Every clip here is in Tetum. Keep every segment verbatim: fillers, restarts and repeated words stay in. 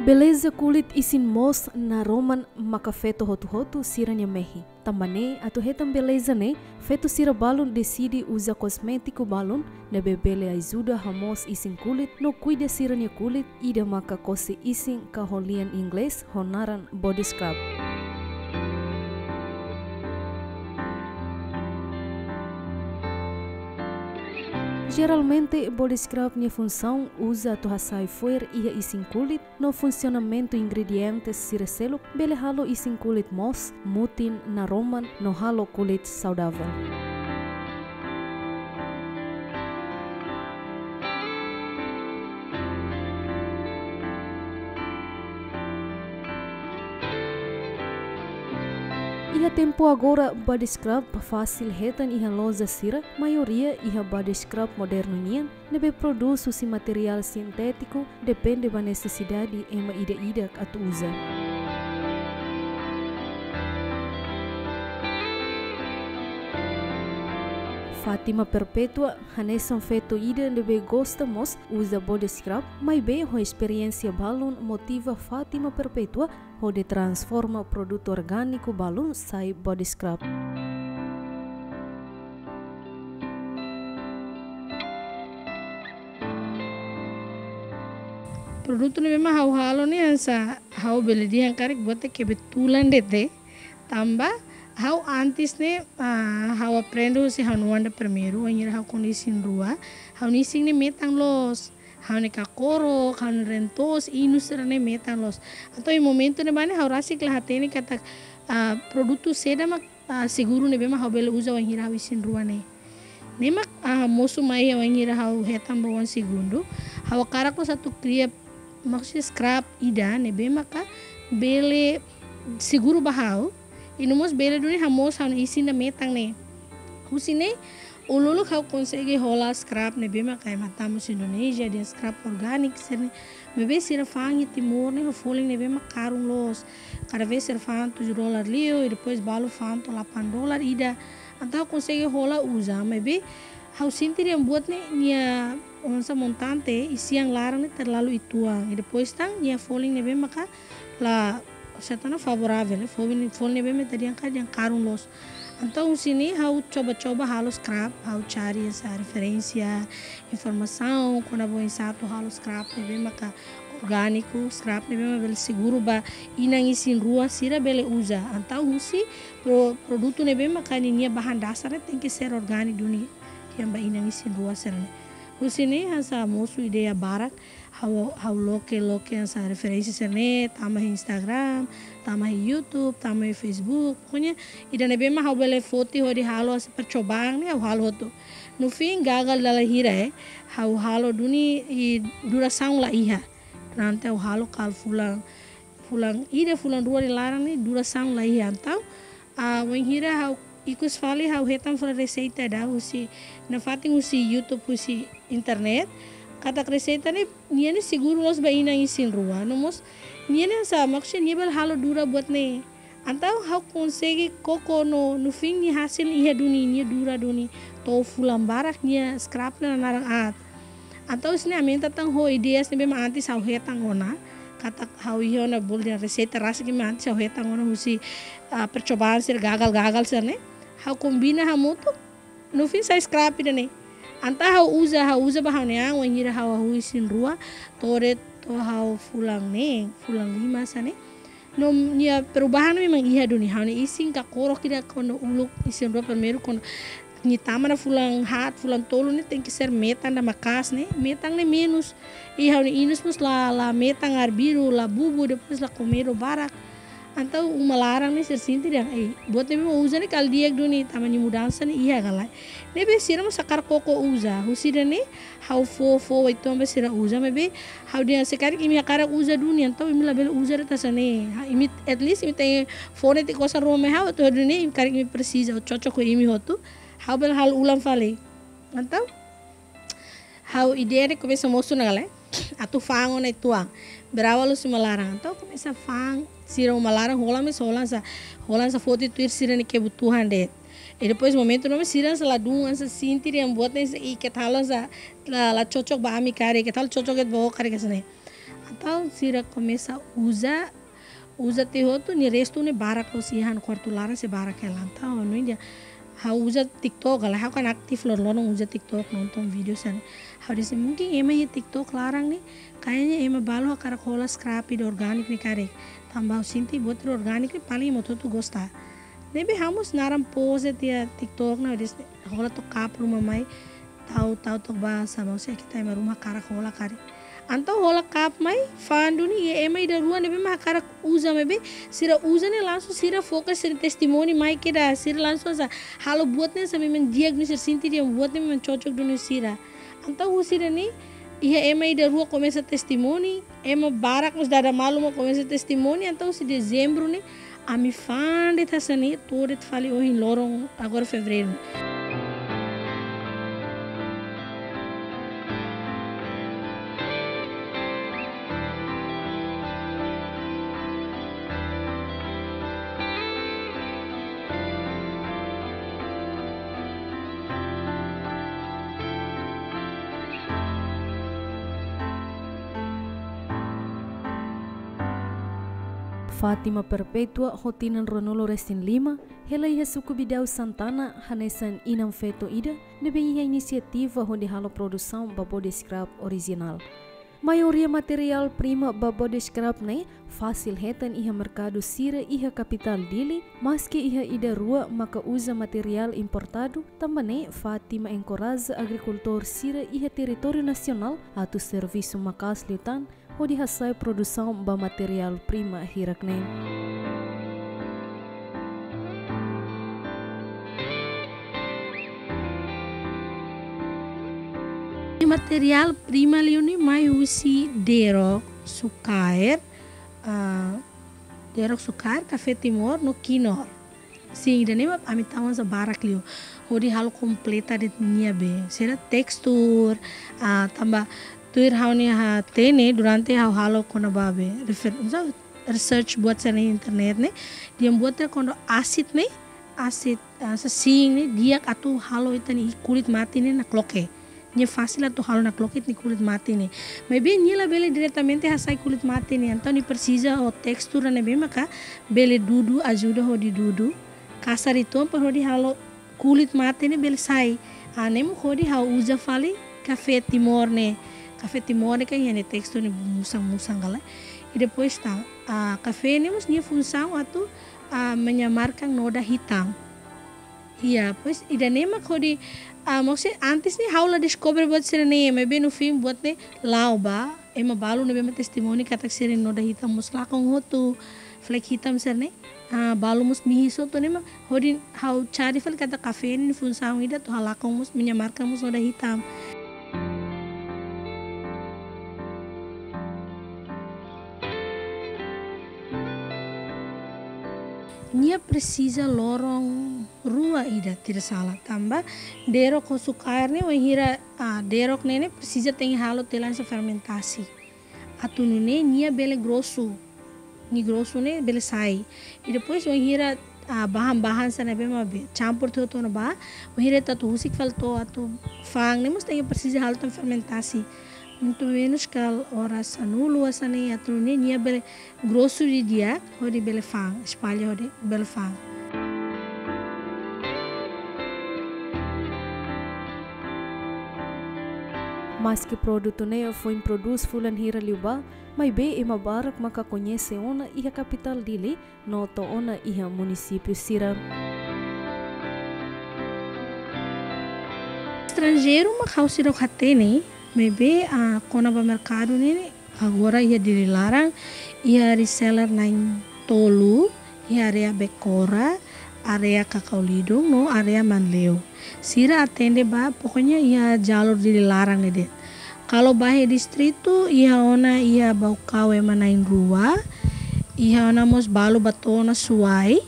Beleza kulit isin moos naroman maka feto hotu-hotu sira-nia mehi. Tanba ne'e, atu hetan beleza ne'e, feto sira balun deside uza kosmétiku balun ne'ebé bele ajuda hamoos isin kulit no kuida sira-nia kulit, ida maka kose isin ka ho lian inglés ho naran body scrub. Jeralmente, body scrub nia funsaun uza atu hasai fo'er iha isin kulit, no funsionamentu ingredientes sira seluk bele halo isin kulit moos, mutin, naroman, no halo kulit saudavel. Iha tempu agora, body scrub fasil hetan iha loja sira, maioria iha body scrub modernu nian, ne'ebé prodús husi materiál sintétiku, depende ba nesesidade ema ida-idak atu uza. Fátima Perpétua hanesan feto ida ne'ebé gosta mós uza body scrub, maibé ho esperiénsia balun motiva Fátima Perpétua hodi transforma produtu orgániku balun sai body scrub. Produtu ne'ebé mak ha'u halo ne'e hanesan ha'u bele dehan karik buat ne'e kebetulan de'it. Tanba ha'u antes ne'e, ah, ha'u aprende husi ha'u-nia oan ida primeiru, wainhira ha'u kona isin-rua, ha'u-nia isin ne'e metan loos, ha'u-nia kakorok, ha'u-nia reen-toos, inus sira-ne'e metan loos. Entaun iha momentu ne'ebá ne'e ha'u rasik la hatene katak, ah, produtu saida mak, ah, seguru ne'ebé mak ha'u bele uza wainhira ha'u isin-rua ne'e. Ne'e mak, ah, mosu mai iha wainhira ha'u hetan ba oan segundu. Ha'u hakarak loos atu kria, maksudnya scrub ida ne'ebé maka bele seguru ba ha'u. I no mós bele duni hamoos ha'u-nia isin ida metan ne'e. Husi ne'e, uluk-uluk ha'u konsege hola scrub ne'ebé maka ema tama husi Indonézia, dehan scrub orgániku sira-ne'e. Maibé sira fa'an iha Timor ne'e ho folin ne'ebé mak karun loos. Kada vez sira fa'an tujuh dolar liu, i depois balu fa'an to'o delapan dolar ida. Entaun ha'u konsege hola uza, maibé ha'u sente dehan buat ne'e nia hanesan montante isin laran ne'e terlalu uitoan. I depois tan nia folin ne'ebé maka la, se torna favorável, eh, folin, folin ne'ebé mak ita dehan ka, dehan karun loos. Entaun husi ne'e ha'u coba-coba halo scrub, ha'u cari hanesan referénsia, informasaun kona-ba oinsá atu halo scrub ne'ebé maka orgániku, scrub ne'ebé mak bele seguru ba inan isin-rua sira bele uza. Entaun husi pro-, produtu ne'ebé maka ninia bahan dasar ne'e tenke ser orgániku duni, dehan ba inan isin-rua sira-ne'e. Husi ne'e hanesan mosu ideia barak, ha'u, ha'u loke, loke hanesan referénsia sira-ne'e, tama iha Instagram, tama iha YouTube, tama iha Facebook. Pokoknya, ida ne'ebé mak ha'u bele foti hodi halo hanesan percobaan ne'e, ha'u halo hotu. No fim, gagal dala hira, eh, ha'u halo duni i durasaun la iha. Durante ha'u halo kala fulan, fulan ida, fulan rua nia laran ne'e durasaun la iha. Entaun, ah, wainhira ha'u ikus fali ha'u hetan fali reseita ida husi, nafatin husi YouTube, husi internet. Katak reseita ne'e, nia ne'e seguru loos ba inan isin-rua. No mós, nia ne'e hanesan, maksudnya nia bele halo dura buat ne'e. Entaun ha'u konsege koko no, no fim nia hasil iha duni, nia dura duni. To'o fulan barak nia scrub ne'e la naran aat. Entaun husi ne'e aumenta tan ho ideias ne'ebé mak antes ha'u hetan ona. Katak ha'u iha ona bolu dehan reseita rasik ne'ebé mak antes ha'u hetan ona husi, ah, percobaan sira gagal-gagal sira-ne'e. Ha'u kombina hamutuk, no fim sai scrub ida-ne'e. Entaun ha'u uza, ha'u uza ba ha'u-nia an, wainhira ha'u hahú isin-rua, to'o de'it, to'o ha'u fulan neen, fulan lima hanesan ne'e. No nia perubahan memang iha duni, ha'u-nia isin kakorok ida kuandu uluk isin-rua primeiru kuandu nia tama ona fulan haat, fulan tolu ne'e tenke ser metan ida maka'as ne'e, metan ne'e menus. I ha'u-nia inus mós la, la metan arbiru, la bubu, depois la komedo barak. Entaun uma laran ne'e sira sente dehan, eh, buat ne'ebé mak uza ne'e kala di'ak duni, tanba nia mudansa ne'e iha ka lae. Ne'ebé sira mós hakarak koko uza, husi ida-ne'e, ha'u fó, fó uitoan ba sira uza, maibé ha'u dehan se karik imi hakarak uza duni, entaun imi labele uza de'it hanesan ne'e. Ha, imi, at least imi tenke fó netik osan ruma mai ha'u, atu duni imi karik imi presiza, ou cocok ho imi hotu, ha'u bele halo ulang fali. Entaun, ha'u ideia ne'e komesa mosu ona ka lae, atu fa'an ona uitoan. Berawal husi uma laran. Entaun komesa fa'an, sira uma laran hola mós hola hanesan, hola hanesan foti tuir sira-nia kebutuhan de'it. I depois momentu ne'ebá sira hanesan ladún hanesan sente dehan buat ne'e hanesan, ih, keta halo hanesan la, la cocok ba ami karik, keta halo cocok de'it ba ó karik hanesan ne'e. Entaun sira komesa uza, uza tiha hotu, nia restu ne'e barak loos iha ha'u-nia kuartu laran, sei barak hela. Entaun, no dia, ha'u uza TikTok, ha'u kan aktif loron-loron uza TikTok, nonton vídeo sira-ne'e. Ha'u dehan, mungkin ema iha TikTok laran ne'e, kayaknya ema balu hakarak hola scrap ida orgániku ne'e karik. Tanba ha'u sente buat ida orgániku ne'e paling ema hotu-hotu gosta. Ne'ebé ha'u mós naran post tiha TikTok ne'e, ha'u dehan, hola to'o cup ruma mai, tau, tau to'o ba, saida mak sei ita ema ruma hakarak hola karik. Entaun hola cup mai, fa'an duni, iha ema ida rua ne'ebé mak hakarak uza, maibé sira uza ne'e langsung sira foka sira-nia testimoni mai kedas, sira langsung sa halo buat ne'e sa memang di'ak, no sira sente dehan buat ne'e memang cocok duni ho sira. Entaun husi ida-ne'e, iha ema ida rua komesa testimoni, ema barak mós dada malu mak komesa testimoni, entaun husi Dezembru ne'e, ami fa'an de'it hanesan ne'e, to'o de'it fali ohin loron, agora Fevereiru. Fátima Perpétua ho tinan ruanulu-resin-lima, hela iha suku Bidau Santana, hanesan inan-feto ida ne'ebé iha inisiativa hodi halo produsaun ba body scrap orijinál. Maioria materiál prima ba body scrap ne'e fasil hetan iha merkadu sira iha kapitál Dili, maski iha ida rua maka uza materiál importadu, tanba ne'e Fátima enkoraja agrikultór sira iha territóriu nasionál atu servisu maka'as liután hodi hasa'e produsaun ba materiál prima hirak-ne'e. Materiál prima liu ne'e mai husi derok, sukaer, ah, derok, sukaer, kafé Timor no kinur. Sin, ida-ne'e mak ami tau hanesan barak liu. Hodi halo kompleta de'it nia be. Sira tekstur, ah, tanba tuir ha'u-nia hatene durante ha'u halo kona-ba be refer-, sa-, research buat sira-ne'e internet ne'e. Dehan buat ne'e kuandu asid ne'e, asid, ah, sa sin ne'e, di'ak atu halo ita-nia kulit mate ne'e nakloke. Nia fasil atu halo nakloke ita-nia kulit mate ne'e. Maibé nia labele diretamente hasa'e kulit mate ne'e. Entaun nia presiza ho tekstur ne'ebé maka bele dudu, ajuda hodi dudu. Kasar uitoan para hodi halo kulit mate ne'e bele sai. Ah, ne'e mak hodi ha'u uza fali kafé Timor ne'e. Kafé Timor ne'e kan iha nia tekstur ne'e musan-musan ka lae. I depois tan, ah, kafé ne'e mós nia funsaun atu, ah, menyamarkan noda hitam. Iya, pois ida-ne'e mak hodi, ah, maksudnya antes ne'e ha'u la deskobre buat sira-ne'e, maibé no fim buat ne'e la'o ba, ema balu ne'ebé mak testimoni katak sira-nia noda hitam mós lakon hotu, flek hitam sira-ne'e, ah, balu mós mihis hotu, ne'e mak hodi ha'u cari fali katak kafé ne'e funsaun ida atu halakon mós, menyamarkan mós noda hitam. Nia presiza loron rua ida, tidak salah. Tanba derok ho sukaer ne'e, wainhira, ah, derok ne'e, ne'e presiza tenke halo tiha lai hanesan fermentasi. Atu nune'e nia bele grosu. Nia grosu ne'e bele sai. I depois wainhira, ah, bahan-bahan sira ne'ebé mak be campur tiha hotu ona ba, wainhira ita atu husik fali to'o atu fa'an ne'e mós tenke presiza halo tan fermentasi. Pelo menus kala oras sanulu hanesan ne'e atu nune'e nia bele grosu didi'ak, hodi bele fa'an, espalla hodi bele fa'an. Maski produtu ne'e foin prodús fulan hira liubá, maibé ema barak maka koñese ona iha kapitál Dili, no to'o ona iha munisípiu sira. Estranjeiru mak ha'u seidauk hatene, maibé, ah, kona-ba merkadu ne'e, agora iha Dili laran, iha reseller na'in-tolu, iha área Becora, área Cacau Lindung, no área Manleu. Sira atende ba, pokoknya iha jalur Dili laran ne'e de'it. Kalau ba iha distritu, iha ona iha Baucau ema na'in-rua, iha ona mós balu ba to'o ona Suai,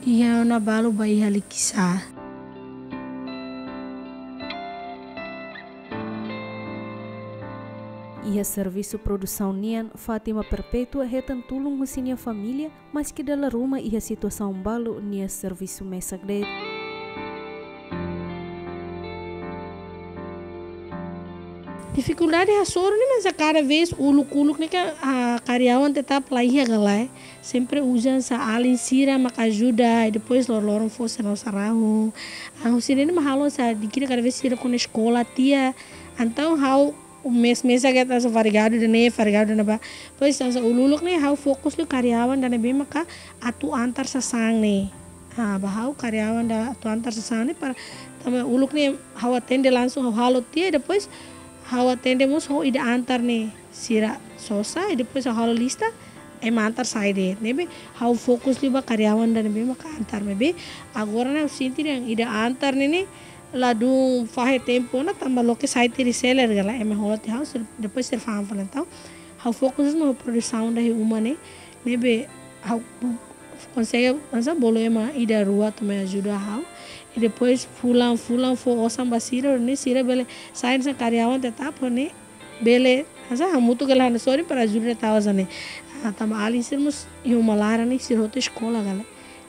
iha ona balu ba iha Likisá. Iha servisu produsaun nian, Fátima Perpétua hetan tulun husi nia família, maski dala ruma iha situasaun balu nia servisu mesak de'it. Difikuldade hasoru ne'e, mas a kada vez uluk-uluk ne'e ka, ah, karyawan tetap la iha ka lae. Sempre uza hanesan alin sira mak ajuda, i depois lor-loron fó sira-nia sarahun. Ah, husi ne'e mak halo hanesan di'ak ida kada vez sira kona eskola tiha. Entaun ha'u mês-mês agora hanesan feriadu ida-ne'e, feriadu ida-ne'ebá. Depois hanesan uluk-uluk ne'e ha'u fokus liu karyawan ida ne'ebé maka atu antar sasán ne'e. Ah, ba ha'u karyawan ida atu antar sasán ne'e para tanba uluk ne'e ha'u atende langsung, ha'u halo tiha, depois ha'u atende mós ho ida antar ne'e, sira sosa, i depois ha'u halo lista, ema antar sai de'it. Ne'ebé ha'u fokus liu ba karyawan ida ne'ebé maka antar, maibé agora ne'e ha'u sente dehan ida antar ne'e ne'e ladún fahe tempu ona, tanba loke sai tiha reseller ka lae, ema hola tiha ha'u, sira, depois sira fa'an fali. Entaun ha'u fokus mós ho produsaun ida iha uma ne'e, ne'ebé ha'u konsege hanesan bolu ema ida rua atu mai ajuda ha'u. I depois fulan-fulan fó osan ba sira, ne'e sira bele sai hanesan karyawan tetap, ne'e bele hanesan hamutuk ka lae hanesan sorin para ajuda tau hanesan ne'e. Ah, tanba alin sira mós iha uma laran ne'e, sira hotu eskola ka lae.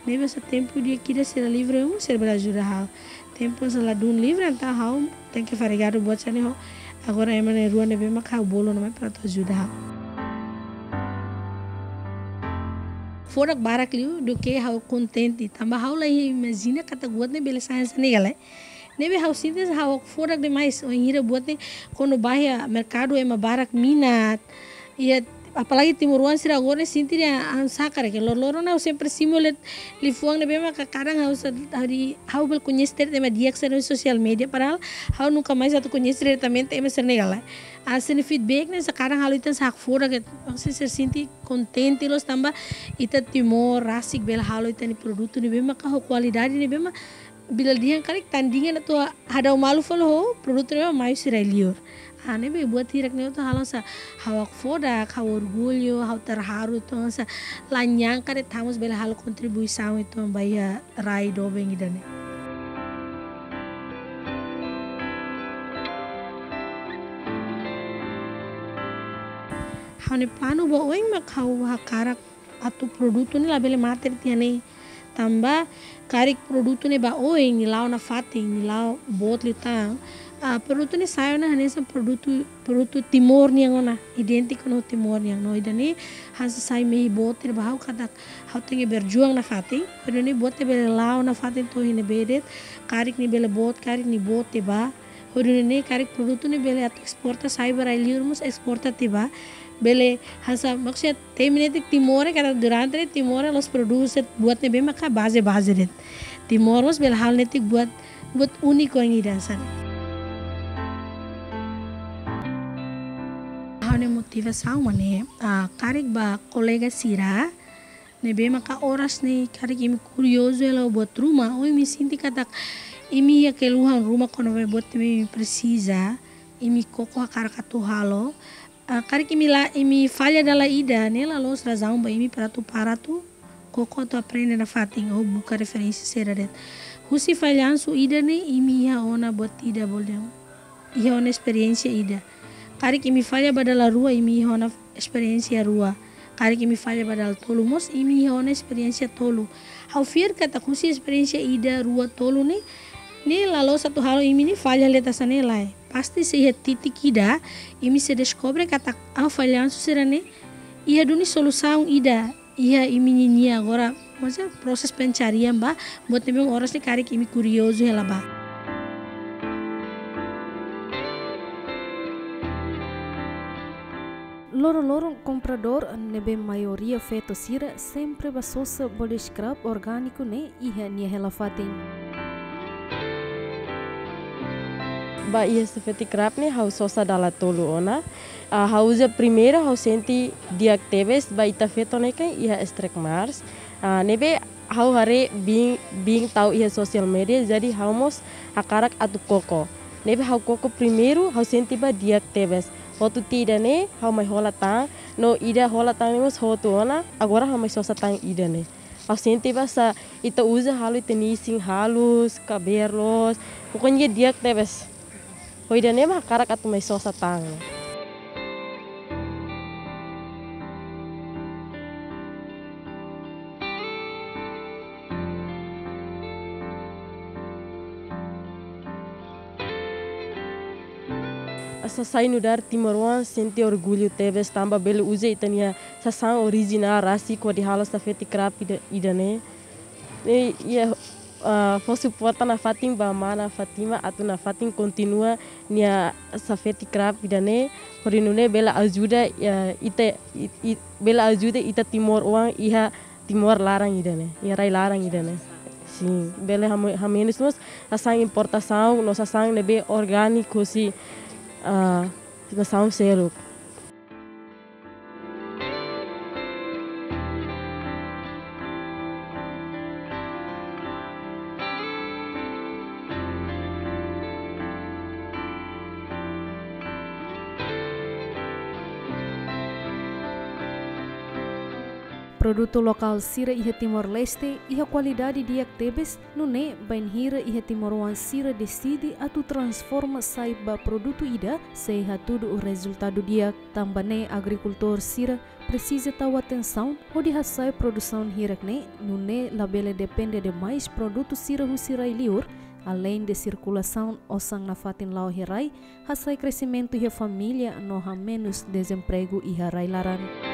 Ne'ebé hanesan tempu di'ak ida sira livre um, sira bele ajuda ha'u. Tempu hanesan ladún livre, entaun ha'u tenke feriadu buat hanesan ne'e ho. Agora ema na'in-rua ne'ebé maka ha'u bolu ona mai para atu ajuda ha'u. Fodak barak liu duké ha'u kontente. Tanba ha'u la imajina katak buat ne'e bele sai hanesan ne'e ka lae. Ne'ebé ha'u sente hanesan ha'u fodak demais. Wainhira buat ne'e kuandu bá iha merkadu ema barak minat. Iha, apalagi timoroan sira agora ne'e sente dehan hanesan karik. Lor-loron ha'u sempre simu de'it liafuan ne'ebé maka kadang ha'u sa-, ha'u di-, ha'u bele koñese de'it ema di'ak sira iha sosial média, padahal ha'u nunka mais atu koñese diretamente ema sira-ne'e ka lae. Ah, sira-nia feedback ne'e hanesan kadang halo ita hanesan hakfodak, maksudnya sira sente kontente loos tanba ita Timor rasik bele halo ita-nia produtu ne'ebé maka ho kualidade ne'ebé maka bila dehan karik tandingan atu hadau malu fali ho produtu ne'ebé mai husi rai-liur. Ah, ne'ebé buat hirak-ne'e atu halo hanesan ha'u hakfodak, ha'u orgullu, ha'u terharu, atu hanesan la nyangka de'it ita mós bele halo kontribuisaun atu ba iha rai doben ida-ne'e. Ha'u-nia planu ba oin mak ha'u hakarak atu produtu ne'e labele mate tiha ne'e. Tanba karik produtu ne'e ba oin, nia la'o nafatin, nia la'o boot liután. Ah, produtu ne'e sai ona hanesan produtu, produtu Timor nian ona, idéntiku ho Timor nian. No ida-ne'e hanesan sai mehi boot ida ba ha'u katak ha'u tenke berjuang nafatin. Hodi nune'e buat ne'e bele la'o nafatin to'o iha ne'ebé de'it, karik nia bele boot, karik nia boot tiha ba. Hodi nune'e karik produtu ne'e bele atu esporta sai ba rai-liur mós esporta tiha ba. Bele hanesan, maksudnya temi netik Timor ne'e katak durante ne'e Timor ne'e la'ós produz buat ne'ebé maka baze-baze de'it. Timor mós bele halo netik buat, buat úniku yang ida hanesan. Ha'u-nia motivasaun mak ne'e, ah, karik ba kolega sira ne'ebé maka oras ne'e karik imi kuriozu hela buat ruma, ou imi sente katak imi iha keluhan ruma kona-ba buat ne'ebé imi presiza, imi koko hakarak atu halo. Ah, karik imi la, imi falla dala ida, ne'e la loos razaun ba imi para atu para atu koko atu aprende nafatin ou buka referénsia saida de'it. Husi fallansu ida-ne'e imi iha ona buat ida, bolu dehan iha ona esperiénsia ida. Karik imi falla ba dala rua, imi iha ona esperiénsia rua. Karik imi falla ba dala tolu mós, imi iha ona esperiénsia tolu. Ha'u fiar katak husi esperiénsia ida, rua, tolu ne'e, ne'e la loos atu halo imi ne'e falla liu hanesan ne'e, lae. Pasti sei iha titik ida, imi sei deskobre katak, ah, fallansu sira-ne'e iha duni solusaun ida iha imi ninia agora, maksudnya proses pencarian ba buat ne'ebé oras ne'e karik imi kuriozu hela ba. Loron-loron kompradór ne'ebé maioria feto sira sempre bá sosa body scrub orgániku ne'e iha nia hela fatin. Ba iha Safety Scrub ne'e ha'u sosa dala tolu ona. Ah, ha'u uza primeiru ha'u sente di'ak tebes, ba ita feto ne'e kan iha stretch marks. Ah, ne'ebé ha'u haree biin, biin tau iha sosial média, jadi ha'u mós hakarak atu koko. Ne'ebé ha'u koko primeiru, ha'u sente ba di'ak tebes. Hotu tiha ida-ne'e, ha'u mai hola tan, no ida hola tan ne'e mós hotu ona, agora ha'u mai sosa tan ida-ne'e. Ha'u sente ba hanesan ita uza halo ita-nia isin halus, kabeer loos, pokoknya di'ak tebes. Ho ida-ne'e mak hakarak atu mai sosa tan. Asa sai nu'udar timoroan sente orgullu tebes tanba bele uza ita-nia sasán orijinál rasik hodi halo safety crab ida, ida-ne'e. Ne'e iha, ah, fó suporta nafatin ba mana Fatima atu nafatin kontinua nia safety crab ida-ne'e, hodi nune'e bele ajuda, ah, ita, it-, it-, bele ajuda ita timoroan iha Timor laran ida-ne'e, iha rai laran ida-ne'e. Sin, bele hame-, hamenus mós sasán importasaun no sasán ne'ebé orgániku husi, ah, nasaun seluk. Produtu lokál sira iha Timor-Leste iha kualidade di'ak tebes, nune'e bainhira iha timoroan sira deside atu transforma sai ba produtu ida, sei hatudu rezultadu di'ak. Tanba ne'e agrikultór sira presiza tau atensaun hodi hasa'e produsaun hirak-ne'e, nune'e labele depende demais produtu sira husi rai-liur, aleinde sirkulasaun osan nafatin la'o iha rai, hasa'e kresimentu iha família no hamenus dezempregu iha rai laran.